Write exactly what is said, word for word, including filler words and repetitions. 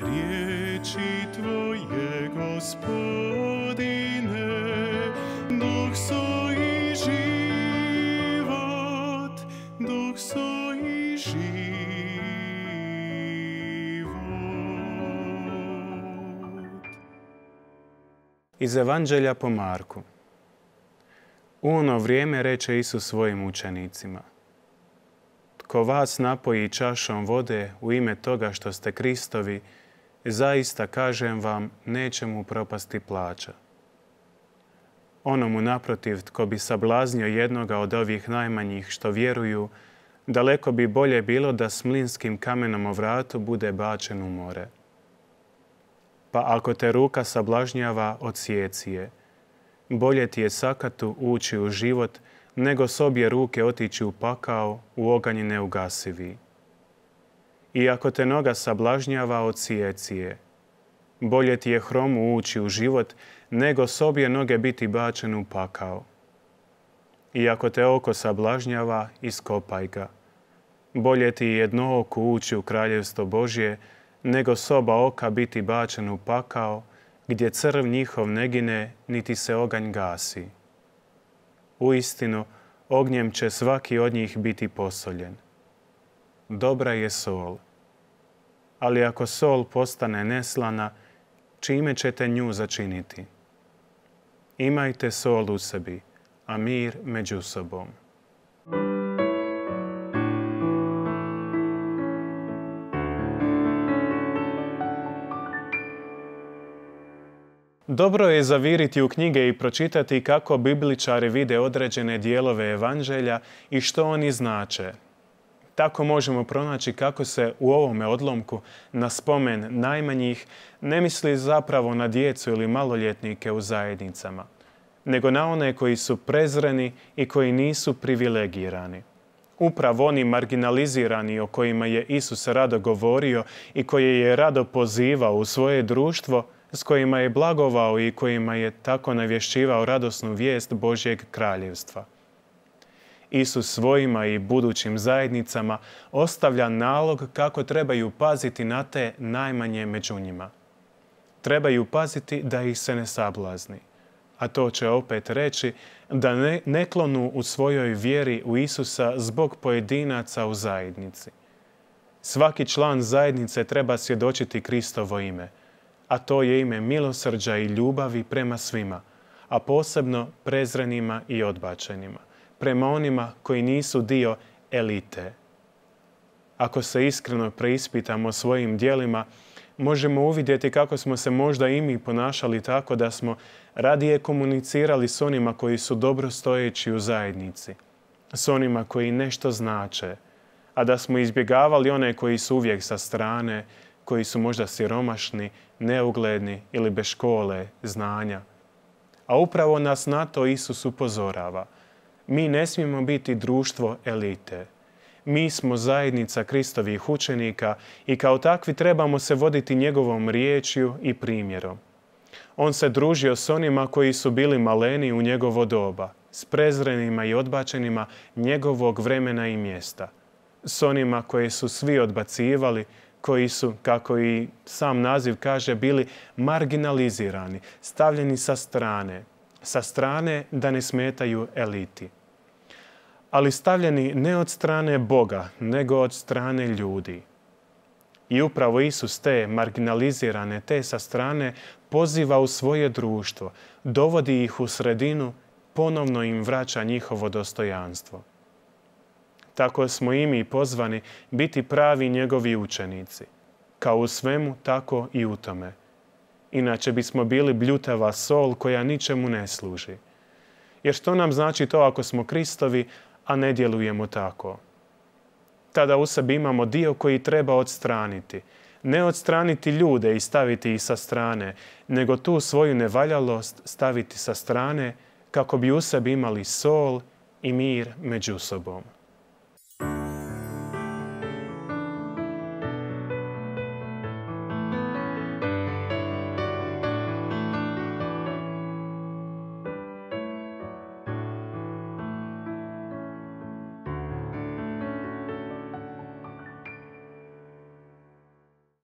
Riječi Tvoje, Gospodine, duh su i život, duh su i život. Iz Evanđelja po Marku. U ono vrijeme reče Isus svojim učenicima: Tko vas napoji čašom vode u ime toga što ste Kristovi, zaista kažem vam, neće mu propasti plaća. Onomu naprotiv, tko bi sablaznio jednoga od ovih najmanjih što vjeruju, daleko bi bolje bilo da s mlinskim kamenom o vratu bude bačen u more. Pa ako te ruka sablažnjava, odsjeci je. Bolje ti je sakatu ući u život, nego s obje ruke otići u pakao, u oganj neugasivi. I ako te noga sablažnjava, odsjeci je. Bolje ti je hromu ući u život, nego s obje noge biti bačen u pakao. I ako te oko sablažnjava, iskopaj ga. Bolje ti je jedno oko ući u kraljevstvo Božje, nego s oba oka biti bačen u pakao, gdje crv njihov ne gine, niti se oganj gasi. Uistinu, ognjem će svaki od njih biti posoljen. Dobra je sol. Ali ako sol postane neslana, čime ćete nju začiniti? Imajte sol u sebi, a mir među sobom. Dobro je zaviriti u knjige i pročitati kako bibličari vide određene dijelove Evanđelja i što oni znače. Tako možemo pronaći kako se u ovome odlomku na spomen najmanjih ne misli zapravo na djecu ili maloljetnike u zajednicama, nego na one koji su prezreni i koji nisu privilegirani. Upravo oni marginalizirani o kojima je Isus rado govorio i koje je rado pozivao u svoje društvo, s kojima je blagovao i kojima je tako navješćivao radosnu vijest Božjeg kraljevstva. Isus svojima i budućim zajednicama ostavlja nalog kako trebaju paziti na te najmanje među njima. Trebaju paziti da ih se ne sablazni. A to će opet reći da ne, ne klonu u svojoj vjeri u Isusa zbog pojedinaca u zajednici. Svaki član zajednice treba svjedočiti Kristovo ime, a to je ime milosrđa i ljubavi prema svima, a posebno prezrenima i odbačenima, prema onima koji nisu dio elite. Ako se iskreno preispitamo svojim djelima, možemo uvidjeti kako smo se možda i mi ponašali tako da smo radije komunicirali s onima koji su dobro stojeći u zajednici, s onima koji nešto znače, a da smo izbjegavali one koji su uvijek sa strane, koji su možda siromašni, neugledni ili bez škole, znanja. A upravo nas na to Isus upozorava. Mi ne smijemo biti društvo elite. Mi smo zajednica Kristovih učenika i kao takvi trebamo se voditi njegovom riječju i primjerom. On se družio s onima koji su bili maleni u njegovo doba, s prezrenima i odbačenima njegovog vremena i mjesta, s onima koje su svi odbacivali, koji su, kako i sam naziv kaže, bili marginalizirani, stavljeni sa strane, sa strane da ne smetaju eliti. Ali stavljeni ne od strane Boga, nego od strane ljudi. I upravo Isus te marginalizirane, te sa strane poziva u svoje društvo, dovodi ih u sredinu, ponovno im vraća njihovo dostojanstvo. Tako smo i mi pozvani biti pravi njegovi učenici. Kao u svemu, tako i u tome. Inače bismo bili bljutava sol koja ničemu ne služi. Jer što nam znači to ako smo Kristovi, a ne djelujemo tako? Tada u sebi imamo dio koji treba odstraniti. Ne odstraniti ljude i staviti ih sa strane, nego tu svoju nevaljalost staviti sa strane kako bi u sebi imali sol i mir među sobom.